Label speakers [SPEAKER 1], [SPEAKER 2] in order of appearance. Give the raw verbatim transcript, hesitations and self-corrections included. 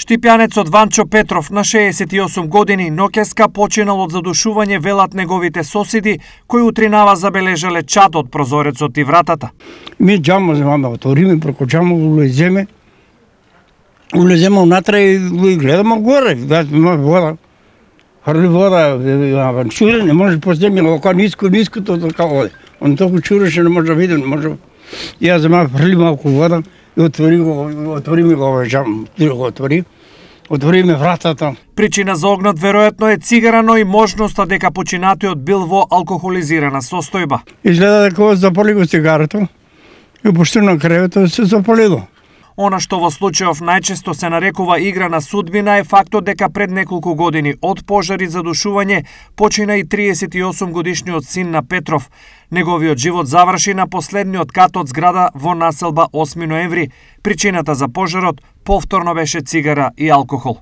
[SPEAKER 1] Штипјанецот Ванчо Петров на шеесет и осум години ноќеска починал од задушување, велат неговите соседи, кои утринава забележале чад од прозорецот и вратата.
[SPEAKER 2] Ми џамо земаме, отвориме преку џамо, улеземе, улеземе унатре и гледаме горе, има вода. Хрли вода, чуре, не може поземи, ока ниско, ниското така оде. Он толку чуреше, не може да види, не може. И ја земам, хрли малку вода и отвори го, отвори ми го овој џам, го отвори. Отвориме вратата.
[SPEAKER 1] Причина за огнот веројатно е цигара, но и можноста дека починатиот бил во алкохолизирана состојба.
[SPEAKER 2] Изгледа дека запали го цигарото и пушти на креветот се запали го.
[SPEAKER 1] Она што во случајов најчесто се нарекува игра на судбина е фактот дека пред неколку години од пожар и задушување почина и триесет и осум годишниот син на Петров. Неговиот живот заврши на последниот кат од зграда во населба осми ноември. Причината за пожарот повторно беше цигара и алкохол.